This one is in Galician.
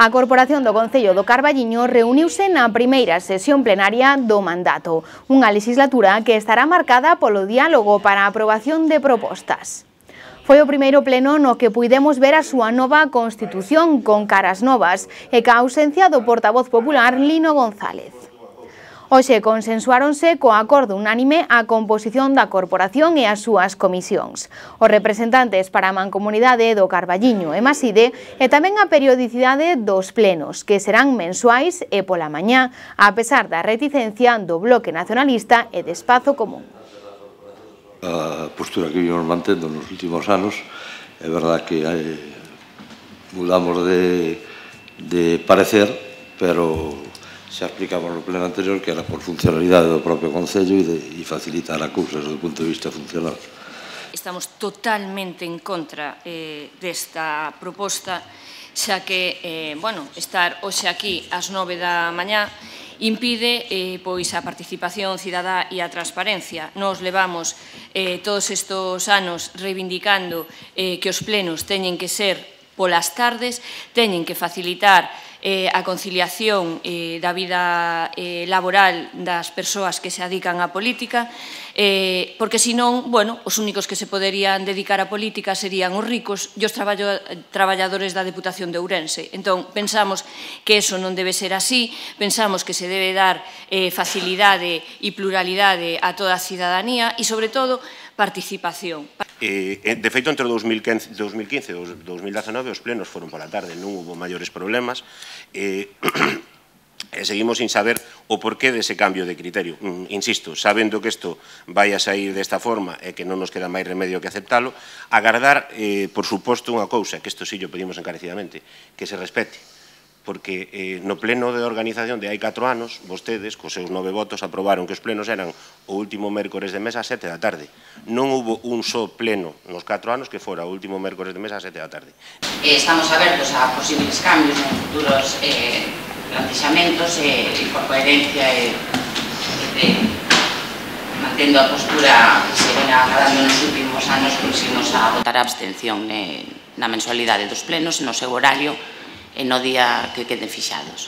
A Corporación do Concello do Carballiño reuniuse na primeira sesión plenaria do mandato, unha legislatura que estará marcada polo diálogo para a aprobación de propostas. Foi o primeiro pleno no que puidemos ver a súa nova Constitución con caras novas e ca ausencia do portavoz popular Lino González. Hoxe consensuáronse co acordo unánime a composición da corporación e as súas comisións, os representantes para a Mancomunidade do Carballiño e Maside e tamén a periodicidade dos plenos, que serán mensuais e pola mañá, a pesar da reticencia do Bloque Nacionalista e de Espazo Común. A postura que vimos mantendo nos últimos anos, é verdad que mudamos de parecer, pero xa explicamos no pleno anterior que era por funcionalidade do propio Concello e facilitar a cousas do punto de vista funcional. Estamos totalmente en contra desta proposta, xa que, estar hoxe aquí ás 9 da mañá impide pois a participación cidadá e a transparencia. Nos levamos todos estes anos reivindicando que os plenos teñen que ser polas tardes, teñen que facilitar a conciliación da vida laboral das persoas que se dedican á política, porque senón, os únicos que se poderían dedicar á política serían os ricos e os traballadores da Deputación de Ourense. Entón, pensamos que eso non debe ser así, pensamos que se debe dar facilidade e pluralidade a toda a cidadanía e, sobre todo, participación. De feito, entre 2015 e 2019 os plenos foron pola tarde, non hubo maiores problemas e seguimos sin saber o porqué dese cambio de criterio. Insisto, sabendo que isto vai a sair desta forma e que non nos queda máis remedio que aceptalo, agardar, por suposto, unha cousa, que isto sí o pedimos encarecidamente, que se respete. Porque no pleno de organización de hai 4 anos, vostedes, cos seus 9 votos, aprobaron que os plenos eran o último mércores de mes a 7 da tarde. Non hubo un só pleno nos 4 anos que fora o último mércores de mes a 7 da tarde. Estamos abertos a posibles cambios en futuros plantexamentos e por coherencia e mantendo a postura que se ven agradando nos últimos anos, conseguimos a votar a abstención na mensualidade dos plenos, no seu horario e no día que queden fixados.